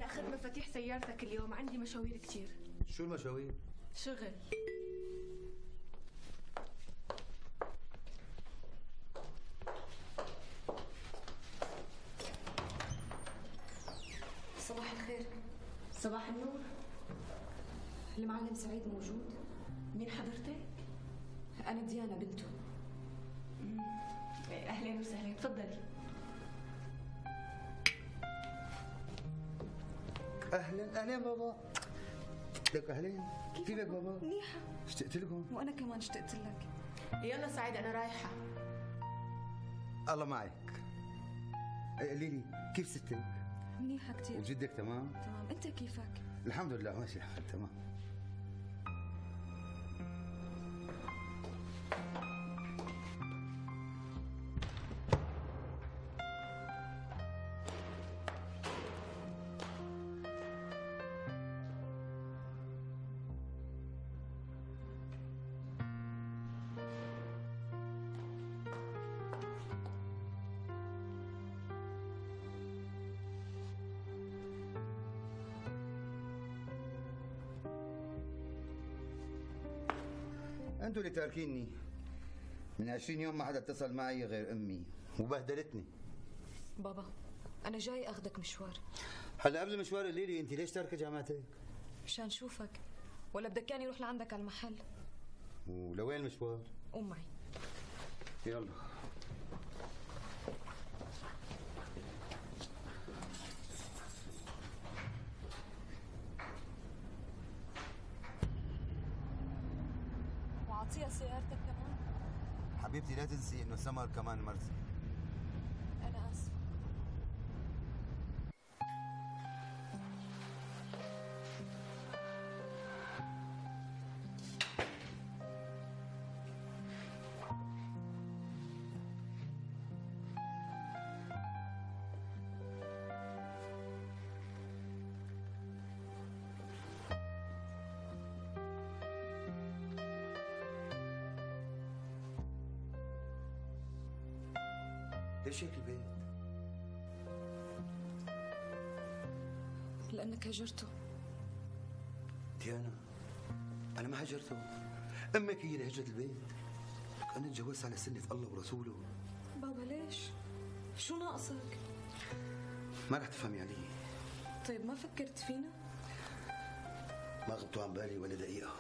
أنا أخذت مفاتيح سيارتك اليوم، عندي مشاوير كتير. شو المشاوير؟ شغل. صباح الخير. صباح النور. المعلم سعيد موجود؟ مين حضرتك؟ أنا ديانا بنته. أهلا وسهلا، تفضلي. اهلا بابا. لك اهلين. كيفك بابا؟ منيحة. اشتقت لكم. وأنا كمان اشتقت لك. يلا سعيد أنا رايحة. الله معك. قولي لي كيف ستك؟ منيحة كتير. وجدك تمام؟ تمام، أنت كيفك؟ الحمد لله ماشي الحال تمام. انتوا اللي تاركيني. من 20 يوم ما حدا اتصل معي غير امي وبهدلتني. بابا أنا جاي أخذك مشوار. هلا قبل المشوار قولي لي انت ليش تاركه جامعتك؟ مشان شوفك، ولا بدك يعني روح لعندك على المحل؟ ولوين المشوار؟ قوم معي. يلا. وعطيها سيارتك كمان. حبيبتي لا تنسي انه سمر كمان مرتي. أنا آسفة. ليش هيك البيت؟ لأنك هجرته. ديانا أنا ما هجرته، أمك هي اللي هجرت البيت. أنا تجوزت على سنة الله ورسوله. بابا ليش؟ شو ناقصك؟ ما رح تفهمي علي. طيب ما فكرت فينا؟ ما غبتوا عن بالي ولا دقيقة.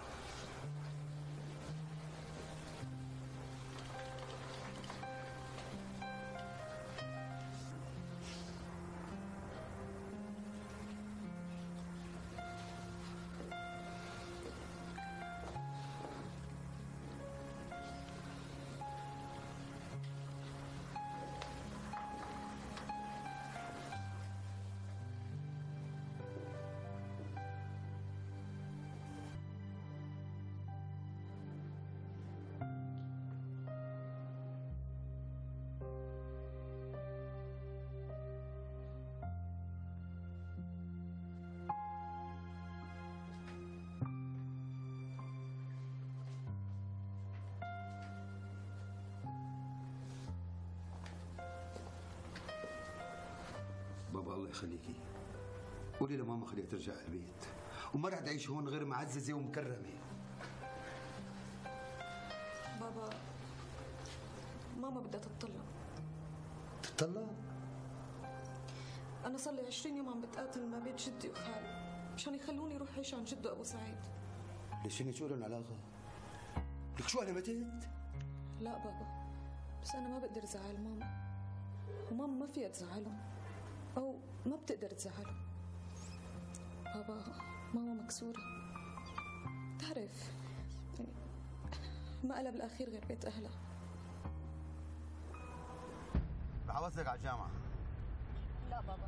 بابا الله يخليكي قولي لماما خليها ترجع البيت، وما رح تعيش هون غير معززة ومكرمة. بابا ماما بدها تتطلق. تتطلق؟ أنا صار لي 20 يوم عم بتقاتل ما بين جدي وخالي مشان يخلوني روح عيش عن جده أبو سعيد. ليش هن شو لهم علاقة؟ لك شو أنا متت؟ لا بابا، بس أنا ما بقدر زعل ماما، وماما ما فيها تزعلهم أو ما بتقدر تزعلهم. بابا ماما مكسورة، تعرف يعني ما قلب بالأخير غير بيت أهلها. رح أوصلك على الجامعة. لا بابا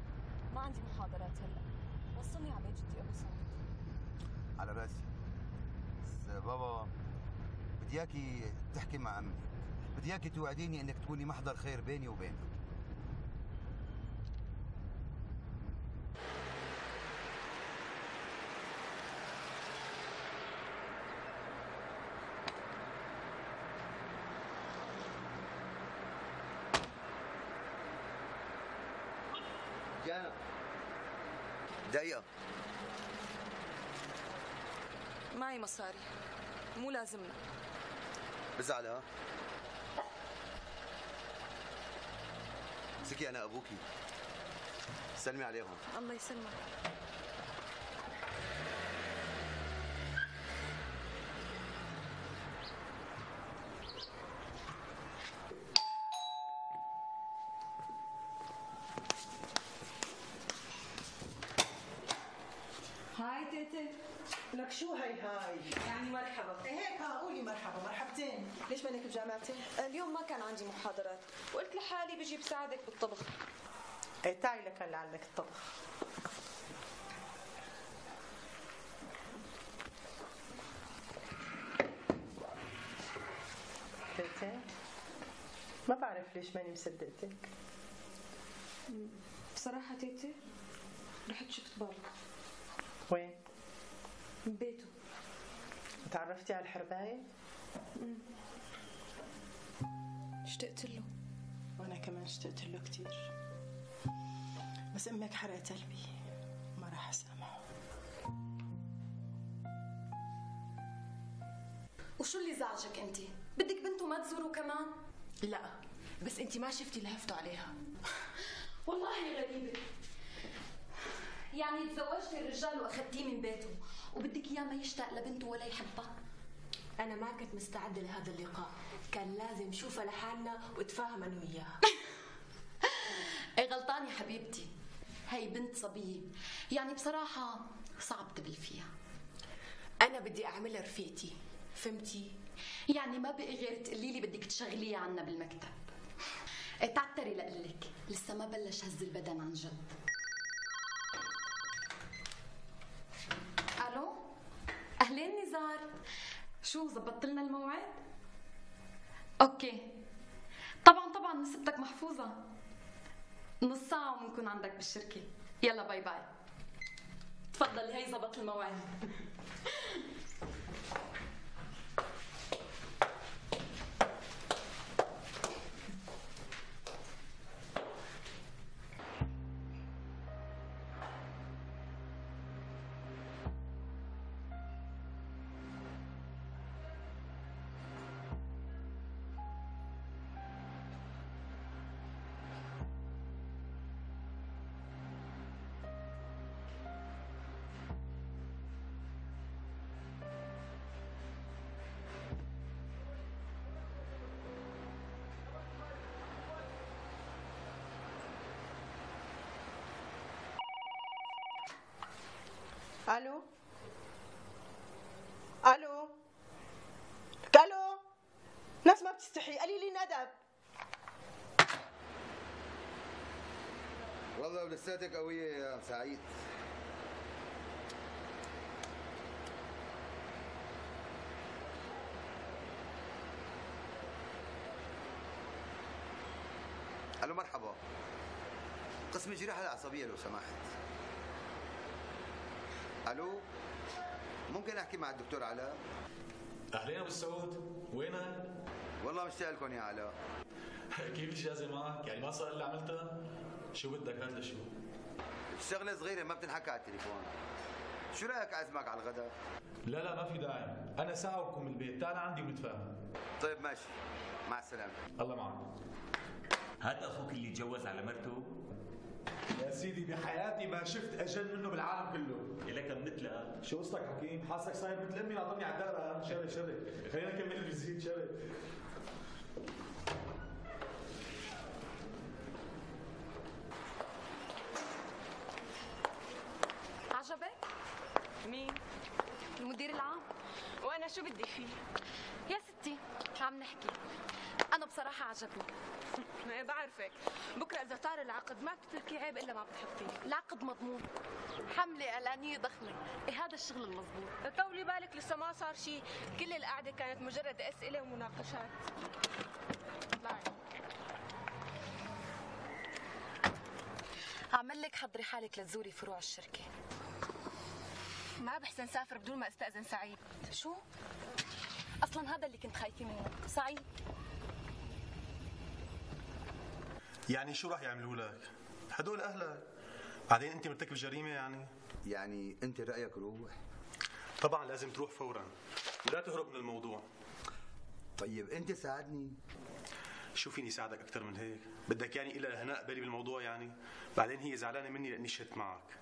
ما عندي محاضرات هلا، وصلني على بيت جدي أبو سعيد. على راسي، بس بابا بدي اياكي تحكي مع امك، بدي اياكي توعديني انك تكوني محضر خير بيني وبينها. دقيقة. معي مصاري، مو لازمنا. بزعل ها؟ مسكي أنا أبوكي، سلمي عليهم. الله يسلمك. هاي تيتي. لك شو هاي يعني مرحبا. هيك قولي مرحبا مرحبتين. ليش مانك بجامعتي؟ اليوم ما كان عندي محاضرات وقلت لحالي بجي بساعدك بالطبخ. ايه تعي لك اللي علمك الطبخ. تيتي ما بعرف ليش ماني مصدقتك. بصراحة تيتي رحت شفت بابا. وين؟ ببيته. تعرفتي على الحرباية؟ اشتقت له. وانا كمان اشتقت له كتير، بس امك حرقت قلبي ما راح اسامحه. وشو اللي زعجك انت؟ بدك بنته ما تزوره كمان؟ لا بس انت ما شفتي اللي هفتوا عليها. والله غريبة. يعني تزوجتي الرجال واخذتيه من بيته وبدك اياه ما يشتاق لبنته ولا يحبها؟ انا ما كنت مستعده لهذا اللقاء، كان لازم نشوفها لحالنا واتفاهم انا وياها. ايه غلطانة حبيبتي، هي بنت صبية، يعني بصراحة صعب تبل فيها. انا بدي اعملها رفيقتي، فهمتي؟ يعني ما بقي غير تقولي لي بدك تشغليها عنا بالمكتب. ايه تعتري لقلك لسه ما بلش هز البدن عن جد. الو اهلين نزار، شو زبطت لنا الموعد؟ اوكي طبعا نسبتك محفوظة، نص ساعة وبنكون عندك بالشركة. يلا باي باي. تفضلي هي زبط الموعد. الو الو الو، ناس ما بتستحي، قليلي ندب. والله لساتك قوية يا سعيد. الو مرحبا، قسم الجراحة العصبية لو سمحت. الو ممكن احكي مع الدكتور علاء؟ اهلين ابو السعود، وينك؟ والله مشتاق لكم يا علاء. كيف الجازة معك؟ يعني ما صار اللي عملتها؟ شو بدك هات لشو؟ الشغلة صغيرة ما بتنحكى على التليفون. شو رأيك أعزمك على الغداء؟ لا ما في داعي، أنا ساعة وبكون من البيت، تعال عندي ونتفاهم. طيب ماشي، مع السلامة. الله معك. هذا أخوك اللي تجوز على مرته؟ يا سيدي بحياتي ما شفت أجل منه بالعالم كله. إلك مثلها. شو قصتك حكيم؟ حاسك صاير مثل أمي ناطرني على الدرب. شري خلينا نكمل الفيزيت. شري عجبك؟ مين؟ المدير العام. وانا شو بدي فيه؟ يا ستي عم نحكي، أنا بصراحة عجبني. ما بعرفك، بكره اذا طار العقد ما بتتركي عيب الا ما بتحطيه. العقد مضمون، حملة إعلانية ضخمة، إيه هذا الشغل المضبوط. طولي بالك لسه ما صار شيء، كل القعده كانت مجرد اسئله ومناقشات. طلعي. أعمل لك حضري حالك لتزوري فروع الشركة. ما بحسن سافر بدون ما استأذن سعيد. شو؟ أصلا هذا اللي كنت خايفة منه، سعيد. يعني شو راح يعملوا لك؟ هدول أهلك، بعدين أنت مرتكب جريمة يعني؟ يعني انت رايك روح؟ طبعا لازم تروح فورا ولا تهرب من الموضوع. طيب انت ساعدني. شو فيني ساعدك اكثر من هيك؟ بدك يعني إلا هناء بالي بالموضوع يعني؟ بعدين هي زعلانه مني لاني شهدت معك.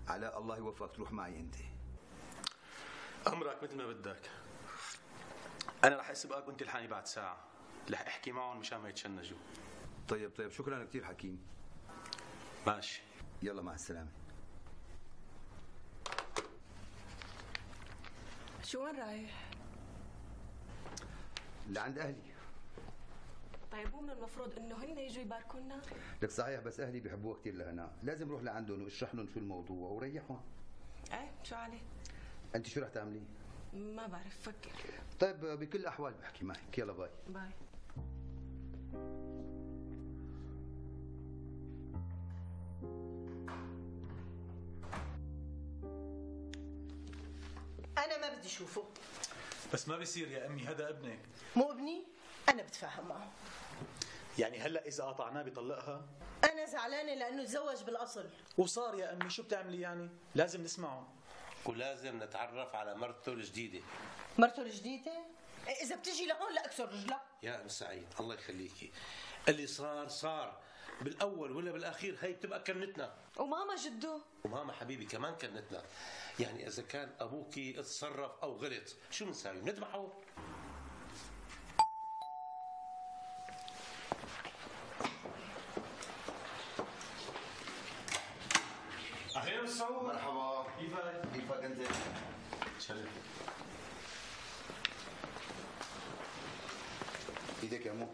علاء الله يوفقك تروح معي انت. امرك مثل ما بدك. انا رح اسبقك وانت الحقني بعد ساعه، رح احكي معهم مشان ما يتشنجوا. طيب شكرا كثير حكيم. ماشي، يلا مع السلامه. شو وين رايح؟ لعند اهلي. طيب مو من المفروض انه هن يجوا يباركونا؟ لك صحيح، بس اهلي بيحبوها كثير لهنا، لازم روح لعندهم واشرح لهم شو الموضوع وريحهم. ايه شو عليه؟ انت شو رح تعملي؟ ما بعرف، فكر. طيب بكل الاحوال بحكي معك، يلا باي. باي. انا ما بدي اشوفه. بس ما بيصير يا امي، هذا ابنك. مو ابني، انا بتفاهم معه. يعني هلا اذا قطعناه بيطلقها؟ انا زعلانه لانه تزوج بالاصل. وصار يا امي، شو بتعملي يعني؟ لازم نسمعه. ولازم نتعرف على مرته الجديده. مرته الجديده؟ اذا بتجي لهون لاكسر رجلها. يا ام سعيد الله يخليكي، اللي صار بالاول ولا بالاخير هي بتبقى كنتنا. وماما جدو؟ وماما حبيبي كمان كنتنا. يعني اذا كان ابوكي اتصرف او غلط شو بنساوي؟ بنذبحه؟ اهلا مسعود. مرحبا. كيفك؟ كيفك انت؟ شرف. ايدك يا مو.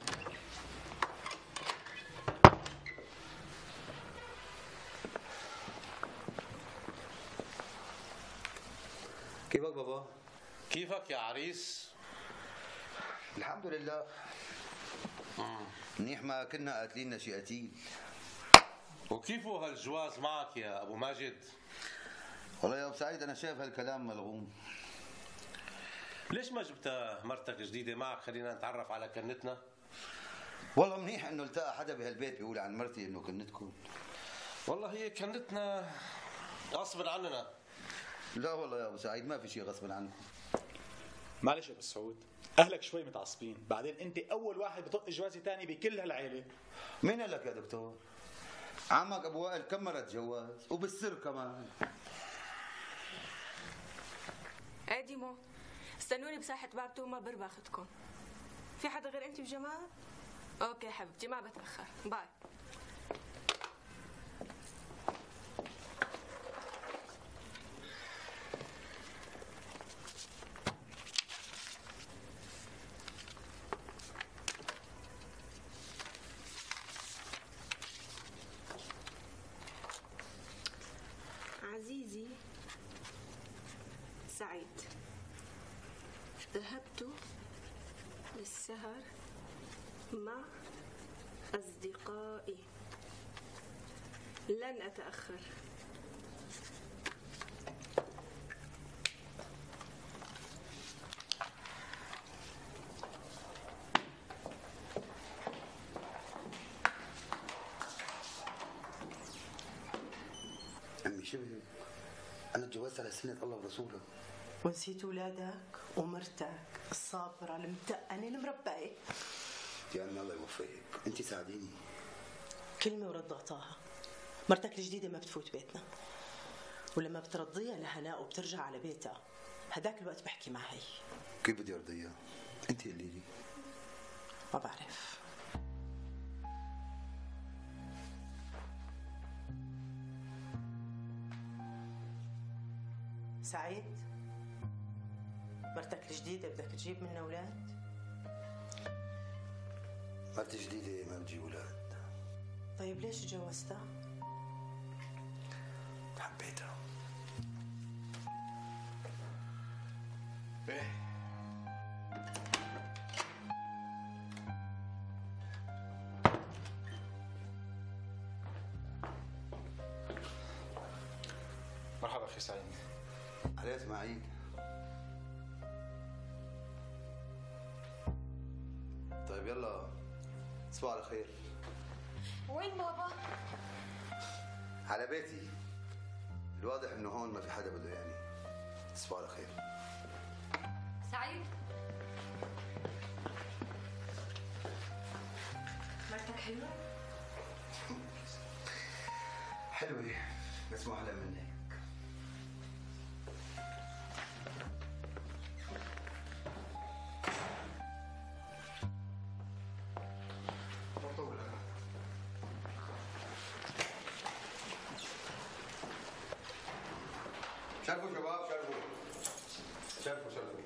كيفك بابا؟ كيفك يا عريس؟ الحمد لله. منيح ما كنا قاتلين شي قتيل. وكيفو هالجواز معك يا ابو ماجد؟ والله يا ابو سعيد انا شايف هالكلام ملغوم. ليش ما جبتها مرتك جديده معك؟ خلينا نتعرف على كنتنا. والله منيح انه التقى حدا بهالبيت بيقول عن مرتي انه كنتكم. والله هي كنتنا غصب عننا. لا والله يا ابو سعيد ما في شيء غصب عنكم. معلش يا ابو سعود، اهلك شوي متعصبين، بعدين انت اول واحد بطق جوازي ثاني بكل هالعيله. مين قال لك يا دكتور؟ عمك ابو وائل كم مره تجوز وبالسر كمان. ديمو استنوني بساحة باب توما باخدكم. في حدا غير انت بجمال؟ اوكي حبيبتي ما بتأخر، باي. عزيزي سعيد، ذهبت للسهر مع أصدقائي، لن أتأخر. عمي شبه أنا تجوزت على سنة الله ورسوله. ونسيت اولادك ومرتك الصابره المتقنه المربيه. يا عمي الله يوفقك، أنت ساعديني. كلمه ورد غطاها. مرتك الجديده ما بتفوت بيتنا، ولما بترضيها لهناء وبترجع على بيتها هداك الوقت بحكي مع هي. كيف بدي أرضيها؟ أنت قولي لي. ما بعرف. سعيد، مرتك الجديدة بدك تجيب منها أولاد؟ مرتي جديدة ما بتجيب أولاد. طيب ليش تجوزتها؟ حبيتها. ايه مرحبا اخي سعيد. علي اسماعيل. طيب يلا تصبحوا على خير. وين بابا؟ على بيتي. الواضح انه هون ما في حدا بده يعني. تصبحوا على خير. سعيد، مرتك حلوة؟ حلوة بس مو أحلى من هيك. شرفوا شباب، شرفوا شرفوا شرفوا.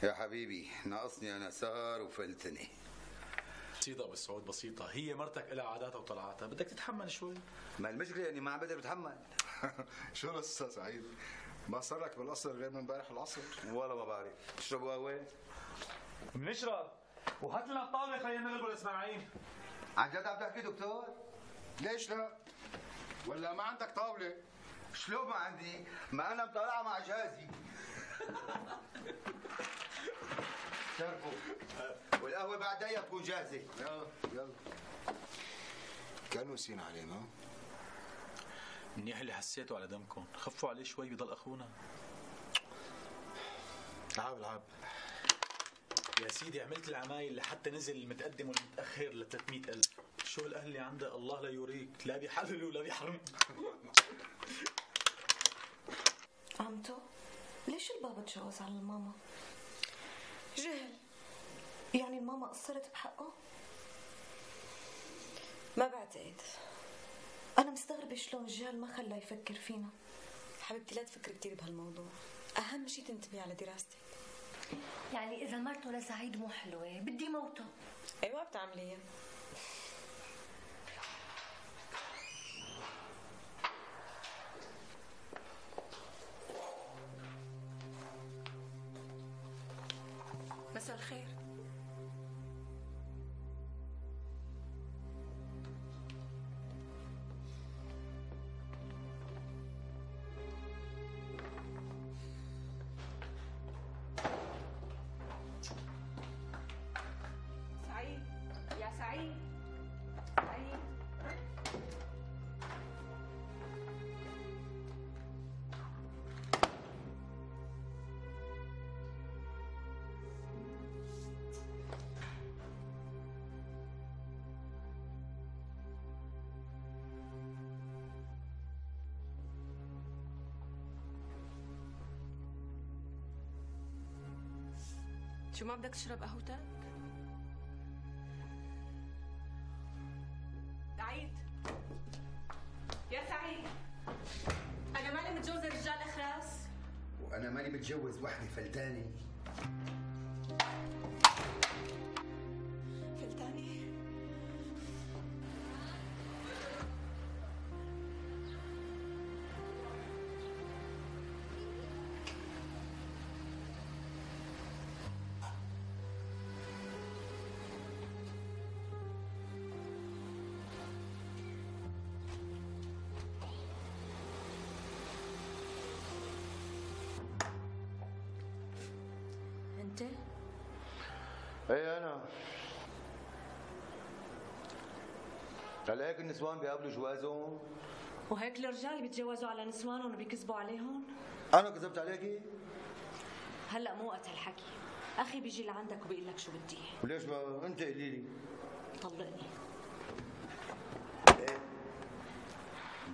يا حبيبي ناقصني انا سهر وفلتني. بسيطة ابو سعود بسيطة، هي مرتك لها عاداتها وطلعاتها، بدك تتحمل شوي. ما المشكلة اني ما عم بقدر اتحمل. شو القصة سعيد؟ ما صار لك بالقصر غير من امبارح العصر؟ والله ما بعرف. تشربوا قهوة؟ بنشرب، وهات لنا الطاولة خلينا نغلبوا اسماعيل. عن جد عم تحكي دكتور؟ ليش لا؟ ولا ما عندك طاولة؟ شلون ما عندي؟ ما انا مطلعها مع جهازي. شرفوا. والقهوة بعد دقيقة تكون جاهزة. يلا يلا. كانوا نسينا عليه ما؟ منيح اللي حسيتوا على دمكم، خفوا عليه شوي بضل اخونا. العاب العاب. يا سيدي عملت العمايل لحتى نزل المتقدم والمتاخر ل 300,000. شو الاهل اللي عنده الله لا يوريك، لا بيحلل ولا بيحرم. عمتو ليش البابا تجوز على الماما؟ جهل. يعني الماما قصرت بحقه؟ ما بعتقد. أنا مستغربة شلون الجهل ما خلاه يفكر فينا. حبيبتي لا تفكري كثير بهالموضوع، أهم شيء تنتبهي على دراستك. يعني إذا مرته لسعيد مو حلوة بدي موته. أيوة بتعمليها. مساء الخير. سعيد يا سعيد. سعيد شو ما بدك تشرب قهوتك؟ سعيد يا سعيد. أنا ماني متجوزة رجال أخراس. وانا ماني متجوز وحدة فلتانة. فلتاني؟ أنت؟ ايه انا. هلا هيك النسوان بيقابلوا جوازهم؟ وهيك الرجال بيتجوزوا على نسوانهم وبيكذبوا عليهم؟ انا كذبت عليكي؟ هلا مو وقت هالحكي، اخي بيجي لعندك وبيقول لك شو بدي. وليش ما انت قولي لي؟ طلقني. ايه؟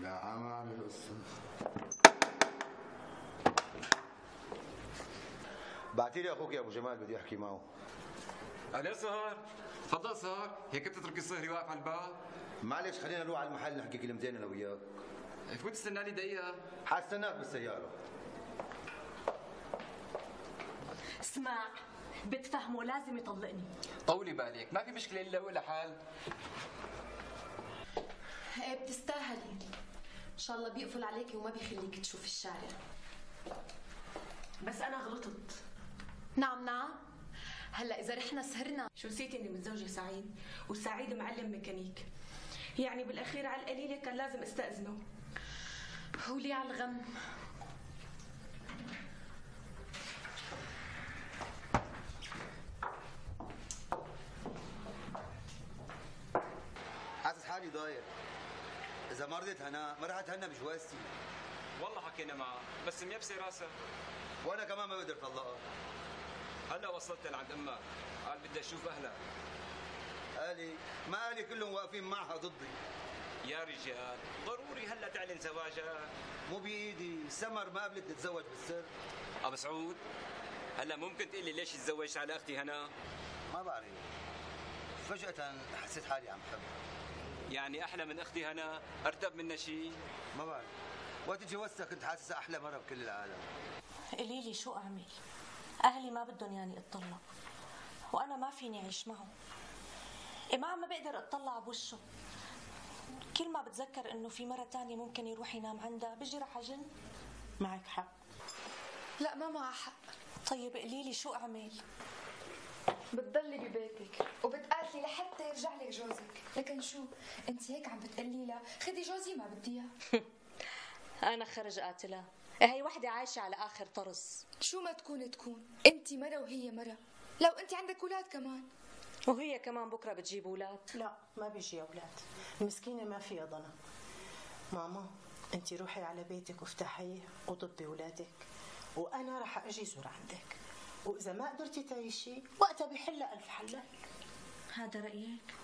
لا ما اعرف القصة. بعتي لي اخوك يا ابو جمال بدي احكي معه. أهلا سهر، تفضل سهر، هيك بتترك الصهري واقف على الباب؟ معلش خلينا نروح على المحل نحكي كلمتين انا وياك. فوت استنى لي دقيقة. حستناك بالسيارة. اسمع، بتفهمه لازم يطلقني. طولي بالك، ما في مشكلة إلا ولا حال. ايه بتستاهلي. ان شاء الله بيقفل عليكي وما بيخليكي تشوفي الشارع. بس انا غلطت. نعم نعم. هلا اذا رحنا سهرنا. شو نسيتي اني متزوجة سعيد وسعيد معلم ميكانيك، يعني بالاخير على القليلة كان لازم استأذنه. ولي على الغم. ضايع. اذا ما رضيت هناء ما رح اتهنى بجوازتي. والله حكينا معها بس ميبسي راسها. وانا كمان ما بقدر طلقها. هلا وصلت لعند امها، قال بدي اشوف اهلها. قالي ما قالي كلهم واقفين معها ضدي. يا رجال ضروري هلا تعلن زواجها. مو بايدي، سمر ما قبلت تتزوج بالسر. ابو سعود هلا ممكن تقول لي ليش تزوجت على اختي هنا؟ ما بعرف، فجأة حسيت حالي عم بحبها. يعني احلى من اختي هنا؟ ارتب منها شيء؟ ما بعرف، وقت تجوزتها كنت حاسسها احلى مرة بكل العالم. قولي لي شو اعمل؟ اهلي ما بدهم يعني اتطلق، وانا ما فيني اعيش معه. ما عم بقدر اتطلع بوشه. كل ما بتذكر انه في مرة تانية ممكن يروح ينام عندها بيجي رح اجن. معك حق. لا ما معها حق. طيب قولي لي شو اعمل؟ بتضلي ببيتك وبتقاتلي لحتى يرجع لك جوزك، لكن شو انت هيك عم بتقلي لها خدي جوزي ما بدي اياه. انا خرج قاتلها، هي وحده عايشه على اخر طرز. شو ما تكون انت مرة وهي مرة، لو انت عندك اولاد كمان. وهي كمان بكره بتجيب اولاد. لا ما بيجي اولاد، المسكينه ما فيها ضنا. ماما انت روحي على بيتك وافتحيه وضبي اولادك، وانا رح اجي زور عندك، واذا ما قدرتي تعيشي وقتها بحلها الف حلال. هذا رايك؟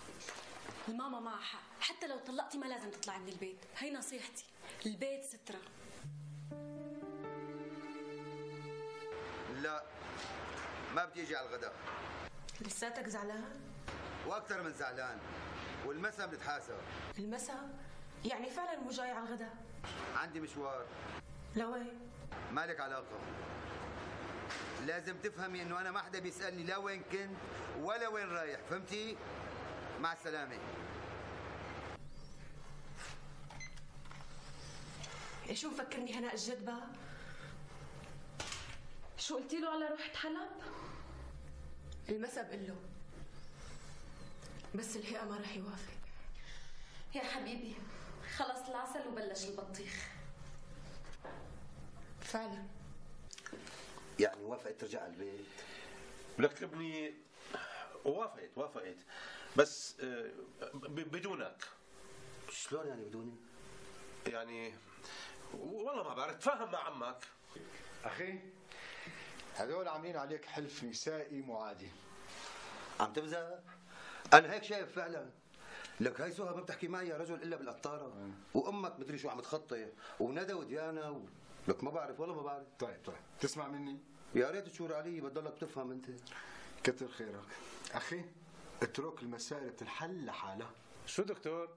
الماما معها حق، حتى لو طلقتي ما لازم تطلعي من البيت، هي نصيحتي، البيت سترة. لا ما بدي اجي على الغداء. لساتك زعلان؟ واكثر من زعلان، والمسا بنتحاسب. المسا؟ يعني فعلا مو جاي على الغداء؟ عندي مشوار. لوين؟ مالك علاقة. لازم تفهمي انه انا ما حدا بيسألني لا وين كنت ولا وين رايح، فهمتي؟ مع السلامة. شو مفكرني هناء الجدبة؟ شو قلتي له على روحة حلب؟ المسا بقول له، بس الهيئة ما رح يوافق. يا حبيبي خلص العسل وبلش البطيخ. فعلا يعني وافقت ترجع على البيت؟ لك ابني وافقت بس بدونك. شلون يعني بدوني؟ يعني والله ما بعرف، تفاهم مع عمك. اخي هذول عاملين عليك حلف نسائي معادي. عم تمزح؟ انا هيك شايف فعلا. لك هاي سهى ما بتحكي معي يا رجل الا بالقطاره، وامك مدري شو عم تخطي، وندى وديانا لك ما بعرف والله ما بعرف. طيب تسمع مني؟ يا ريت تشور علي، بتضلك بتفهم انت. كتر خيرك اخي، اترك المسائل بتنحل لحالها. شو دكتور؟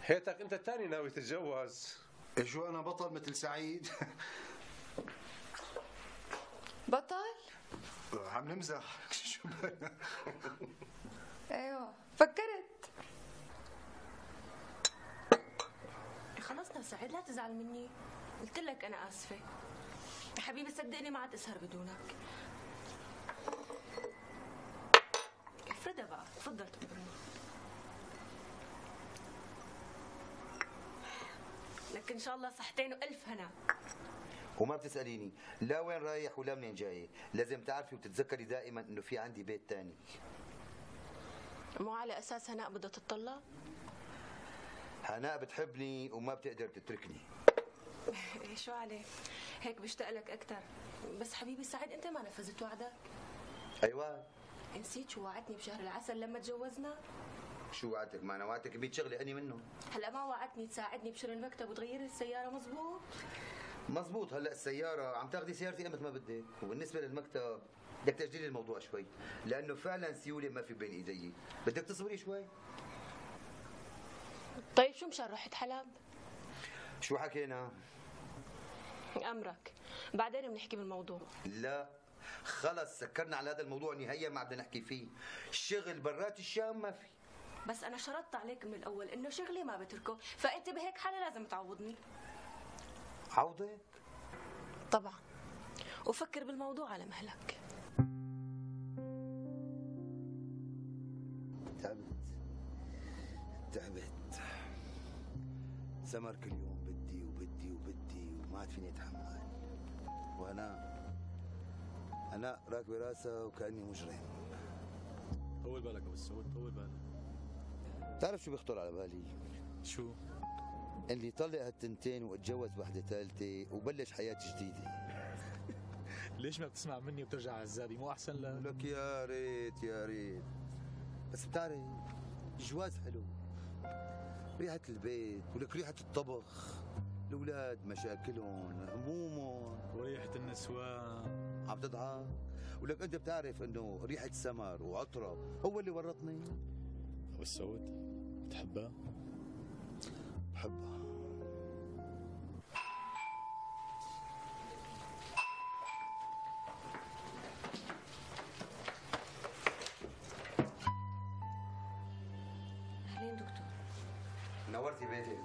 هيتك انت الثاني ناوي تتجوز. شو انا بطل مثل سعيد؟ بطل؟ عم نمزح. شو ايوه فكرت. خلصنا سعيد لا تزعل مني، قلت لك انا اسفه. يا حبيبي صدقني ما عاد اسهر بدونك. افردها بقى، تفضل تفضل. لك ان شاء الله صحتين والف هنا. وما بتسأليني لا وين رايح ولا منين جاي، لازم تعرفي وتتذكري دائما انه في عندي بيت تاني. مو على اساس هناء بدها تتطلق؟ هناء بتحبني وما بتقدر تتركني. شو عليه؟ هيك بشتاق لك اكثر، بس حبيبي سعيد انت ما نفذت وعدك. ايوه نسيت شو وعدتني بشهر العسل لما تجوزنا؟ شو وعدتك؟ ما انا وعدتك ب100 شغله اني منهم. هلا ما وعدتني تساعدني بشر المكتب وتغيري السياره، مزبوط؟ مزبوط. هلا السياره عم تاخذي سيارتي امتى ما بدك، وبالنسبه للمكتب بدك تاجلي الموضوع شوي، لانه فعلا سيوله ما في بين ايدي، بدك تصبري شوي. طيب شو مشان رحت حلب؟ شو حكينا؟ امرك، بعدين بنحكي بالموضوع. لا خلص سكرنا على هذا الموضوع نهائيا، ما بدنا نحكي فيه. الشغل برات الشام ما في. بس انا شرطت عليك من الاول انه شغلي ما بتركه، فانت بهيك حاله لازم تعوضني. عوضك؟ طبعا، وفكر بالموضوع على مهلك. تعبت سمر كل يوم بدي وما عاد فيني اتحمل. وانا راكبه راسها وكاني مجرم. طول بالك ابو السعود، طول بالك. بتعرف شو بيخطر على بالي؟ شو؟ اللي طلق هالتنتين واتجوز وحده ثالثه وبلش حياه جديده. ليش ما بتسمع مني وبترجع عزابي؟ مو احسن لك يا ريت يا ريت، بس بتعرف الجواز حلو، ريحه البيت ولك ريحه الطبخ، الاولاد مشاكلهم همومهم وريحه النسوان. عم تضحك؟ ولك انت بتعرف انه ريحه سمر وعطره هو اللي ورطني. ابو السعود بتحبها؟ بحبها. اهلين دكتور. نورتي بيتك.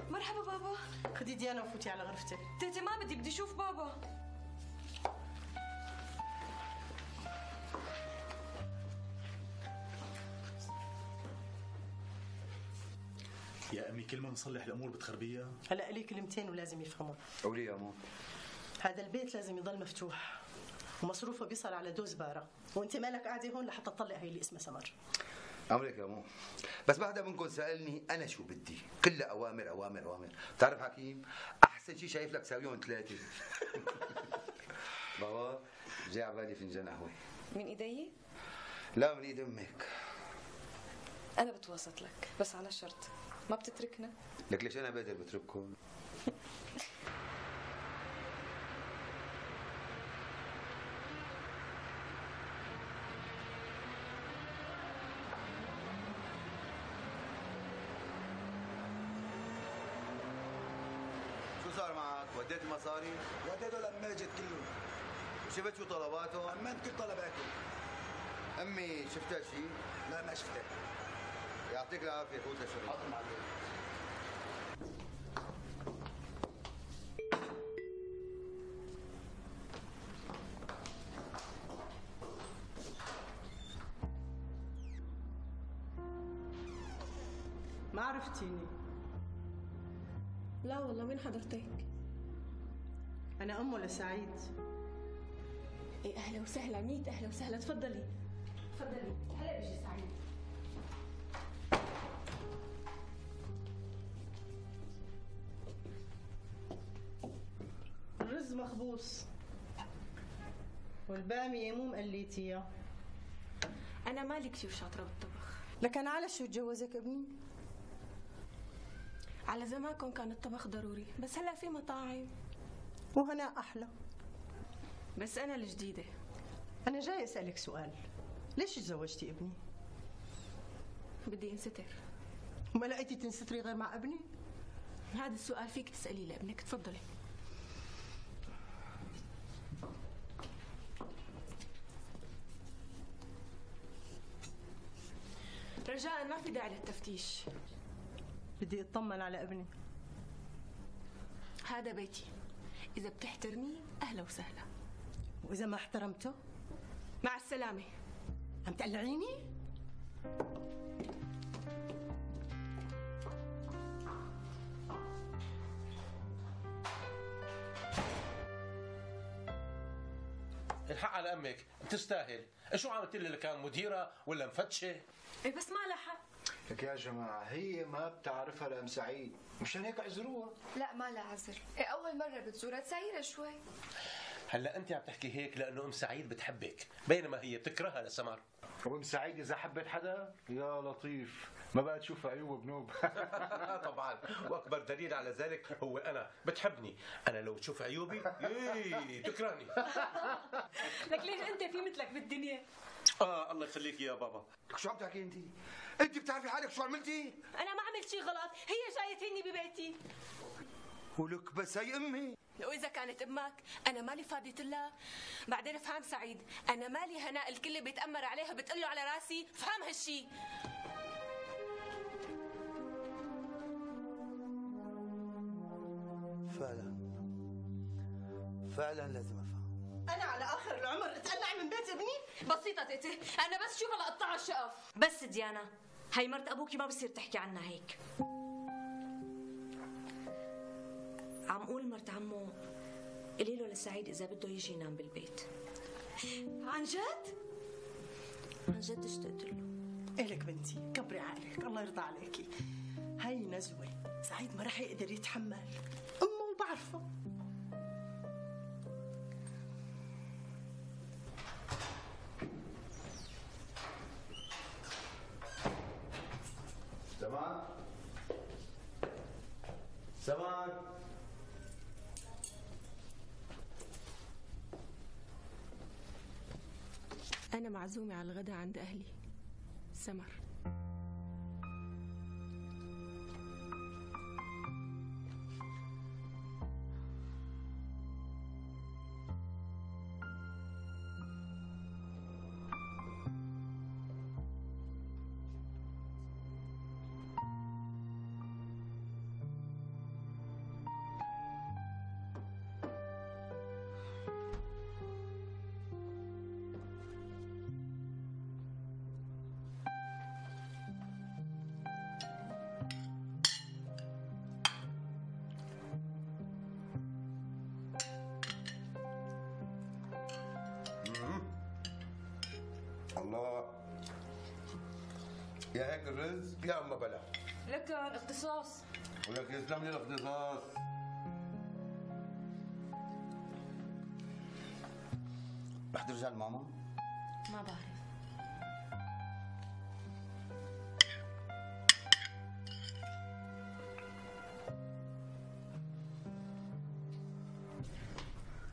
مرحبا بابا. خدي ديانا وفوتي على غرفتك. تيتي ما بدي اشوف بابا. يا امي كل ما نصلح الامور بتخربيها. هلا لي كلمتين ولازم يفهموا. قولي يا مو. هذا البيت لازم يضل مفتوح ومصروفه بيصل على دوز بارة، وانت مالك قاعده هون لحتى تطلع هي اللي اسمها سمر. امرك يا مو، بس بعدها منكم سالني انا شو بدي، كلها اوامر اوامر اوامر. بتعرف حكيم احسن شيء شايف لك ساويهم ثلاثه. بابا جاي على بالي فنجان قهوه. من ايدي؟ لا من ايد امك. انا بتوسط لك بس على شرط ما بتتركنا. لك ليش انا بقدر بترككم؟ شو صار معك؟ وديت المصاري؟ وديته لماجد كله. وشفت شو طلباته؟ عملت كل طلباته. امي شفتها شيء؟ لا ما شفتها. يعطيك العافيه، فوت لشغلك. حاضر معلم. ما عرفتيني؟ لا والله، مين حضرتك؟ أنا أمه لسعيد. إيه أهلا وسهلا، 100 أهلا وسهلا، تفضلي تفضلي، هلا بيجي سعيد. الرز مخبوص والبامية مو مقليتيها. أنا مالي كثير شاطرة بالطبخ. لكن على شو تجوزك ابني؟ على زمانكم كان الطبخ ضروري، بس هلا في مطاعم وهنا أحلى. بس أنا الجديدة. أنا جاي أسألك سؤال، ليش تزوجتي ابني؟ بدي انستر. وما لقيتي تنستري غير مع ابني؟ هذا السؤال فيك تسأليه لابنك، تفضلي. رجاء ما في داعي للتفتيش. بدي اطمن على ابني. هذا بيتي، إذا بتحترميه أهلا وسهلا، وإذا ما احترمته؟ مع السلامة. عم تقلعيني؟ الحق على امك، بتستاهل. شو عملت لي؟ كان مديره ولا مفتشه؟ ايه بس ما لها حق. لك يا جماعه هي ما بتعرفها لام سعيد، مشان هيك اعذروها. لا ما لها عذر، إيه أول مرة بتزورها تسايرها شوي. هلا انت عم تحكي هيك لانه ام سعيد بتحبك، بينما هي بتكرهها لسمر. وام سعيد اذا حبت حدا يا لطيف ما بقى تشوف عيوب بنوب. طبعا، واكبر دليل على ذلك هو انا، بتحبني. انا لو تشوف عيوبي تكرهني. لك ليش انت في مثلك بالدنيا؟ الله يخليك يا بابا. شو عم تحكي انت؟ انت بتعرفي حالك شو عملتي؟ أنا ما عملت شيء غلط، هي جاية تهني ببيتي. ولك بس هي امي. وإذا كانت أمك أنا مالي فاضية الله. بعدين افهم سعيد، أنا مالي هناء الكل بيتأمر عليها بتقله على راسي، فهم هالشي. فعلا لازم افهم. أنا على آخر العمر اتقلع من بيت ابني؟ بسيطة تيتي، أنا بس شوفها لقطع الشقف. بس ديانا، هي مرت أبوكي ما بصير تحكي عنها هيك. عم قول مرت عمو قولي له لسعيد إذا بده يجي ينام بالبيت. عن جد؟ عن جد اشتقت له. إلك بنتي كبري عقلك، الله يرضى عليكي. هاي نزوة، سعيد ما رح يقدر يتحمل، أمه بعرفه. سماك سماك أنا معزومة على الغداء عند أهلي. سمر. الله، يا هيك الرز يا اما بلا. لكن اختصاص. ولك يسلم لي الاختصاص. رح ترجع لماما؟ ما بعرف.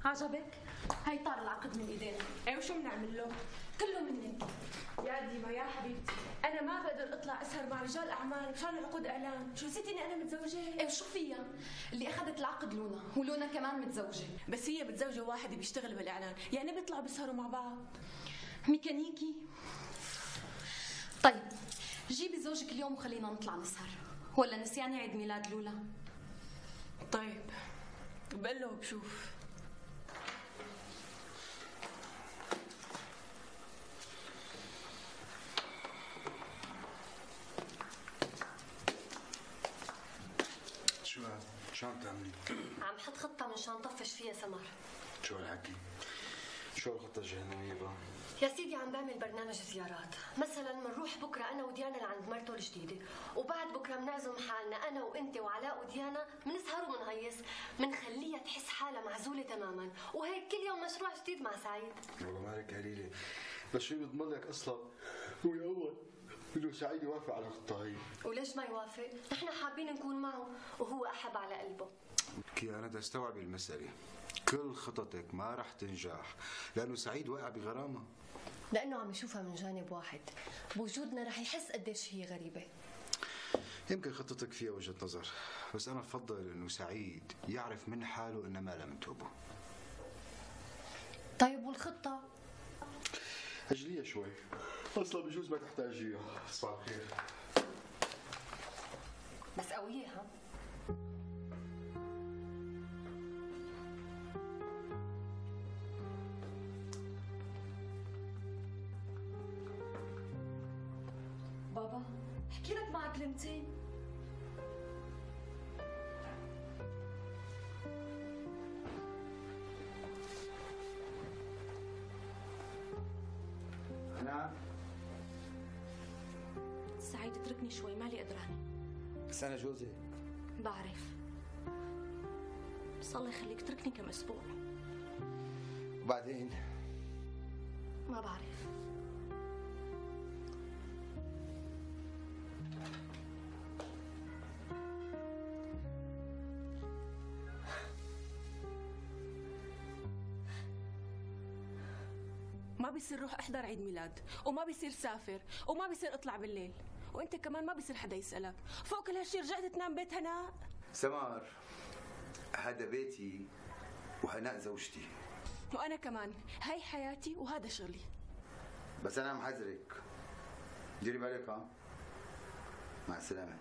عجبك؟ هاي طار العقد من ايدينا. ايه وشو بنعمل له؟ كله منك. يا ديما يا حبيبتي، انا ما بقدر اطلع اسهر مع رجال اعمال مشان عقود اعلان. شو نسيتي اني انا متزوجه؟ ايه شو فيها؟ اللي اخذت العقد لونا، ولونا كمان متزوجه. بس هي متزوجه واحد بيشتغل بالاعلان، يعني بيطلعوا بيسهروا مع بعض. ميكانيكي. طيب جيبي زوجك اليوم وخلينا نطلع نسهر، ولا نسياني عيد ميلاد لولا؟ طيب بقول له بشوف. شو عم تعملي؟ عم حط خطة مشان طفش فيها سمر. شو هالحكي؟ شو هالخطة الجهنمية بقى؟ يا سيدي عم بعمل برنامج زيارات، مثلا بنروح بكره انا وديانا لعند مرته الجديده، وبعد بكره بنعزم حالنا انا وانت وعلاء وديانا، بنسهر وبنهيص، بنخليها تحس حالها معزوله تماما، وهيك كل يوم مشروع جديد مع سعيد. والله مالك قليلة، بس شو بيضمن لك اصلا هو الاول انه سعيد يوافق على الخطة هي؟ وليش ما يوافق؟ نحن حابين نكون معه وهو احب على قلبه. كي انا بدي استوعب المسألة، كل خططك ما رح تنجح لانه سعيد واقع بغرامة. لانه عم يشوفها من جانب واحد، بوجودنا رح يحس قديش هي غريبة. يمكن خطتك فيها وجهة نظر، بس انا بفضل انه سعيد يعرف من حاله ان ما لم توبه. طيب والخطة؟ اجليها شوي، اصلا بجوز ما تحتاجيها. صباح الخير. بس قوية ها؟ بابا احكي لك معك كلمتين. أنا سعيد اتركني شوي، مالي قدرانة. بس أنا جوزي. بعرف، بس الله يخليك اتركني كم أسبوع. وبعدين؟ ما بعرف. ما بيصير روح احضر عيد ميلاد، وما بيصير سافر، وما بيصير اطلع بالليل، وانت كمان ما بيصير حدا يسألك. فوق كل هالشي رجعت تنام بيت هناء. سمر، هذا بيتي وهناء زوجتي. وانا كمان، هاي حياتي وهذا شغلي. بس انا محذرك، ديري بالك. ها، مع السلامة.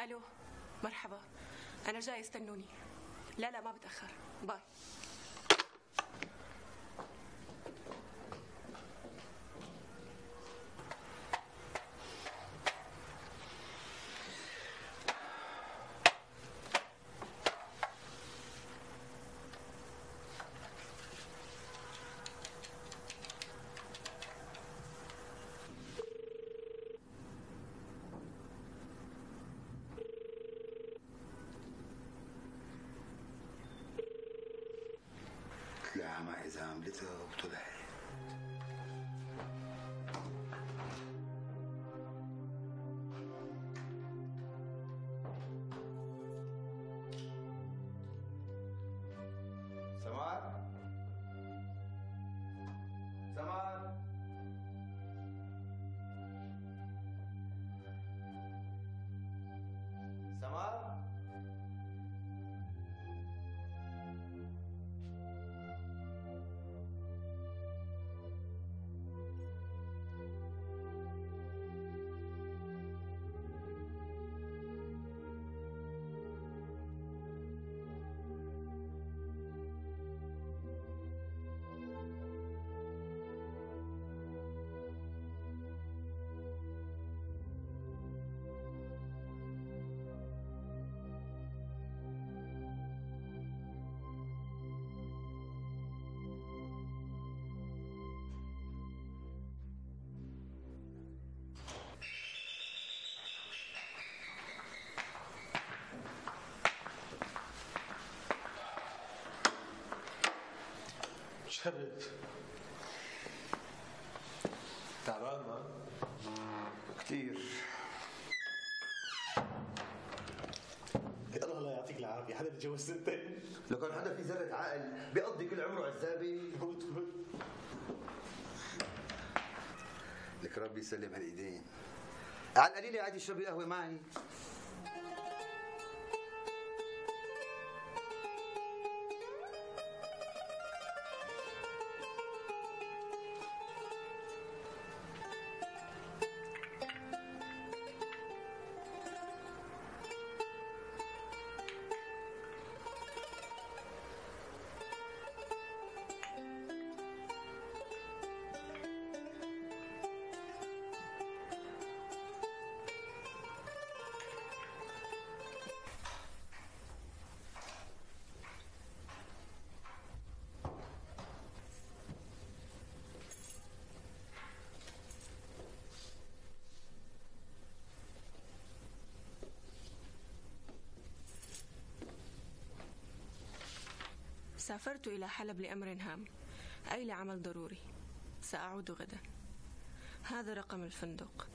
الو، مرحبا، انا جاي، استنوني. لا لا ما بتاخر، باي. معي إذا عملتها وطلعت. سمار سمار سمار شرد تعبان ما؟ كثير. الله لا يعطيك العافيه، حدا بيتجوز سنتين؟ لو كان حدا في ذرة عقل بيقضي كل عمره عزابي. لك ربي يسلم هالايدين. على القليله عادي اشربي قهوه معي. سافرت إلى حلب لأمر هام، أي لعمل ضروري. سأعود غدا. هذا رقم الفندق.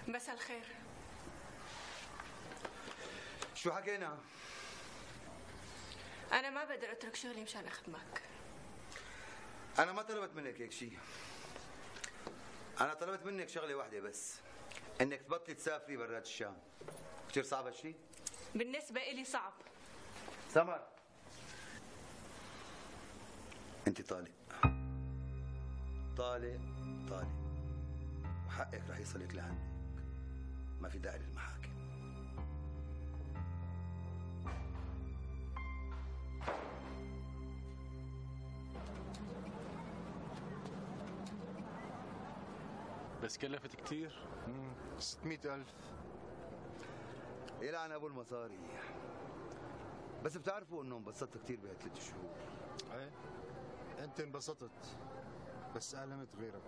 مساء الخير. شو حكينا؟ أنا ما بقدر أترك شغلي مشان أخدمك. أنا ما طلبت منك هيك شيء. أنا طلبت منك شغلة واحدة بس، إنك تبطلي تسافري برات الشام. كثير صعب هالشيء؟ بالنسبة إلي صعب. سمر، أنت طالق. طالق طالق. وحقك رح يصلك لعندك. ما في داعي للمحاكم. بس كلفت كتير. 600,000. يلعن ابو المصاري. بس بتعرفوا انه انبسطت كثير بهال3 شهور. ايه انت انبسطت بس ألمت غيرك.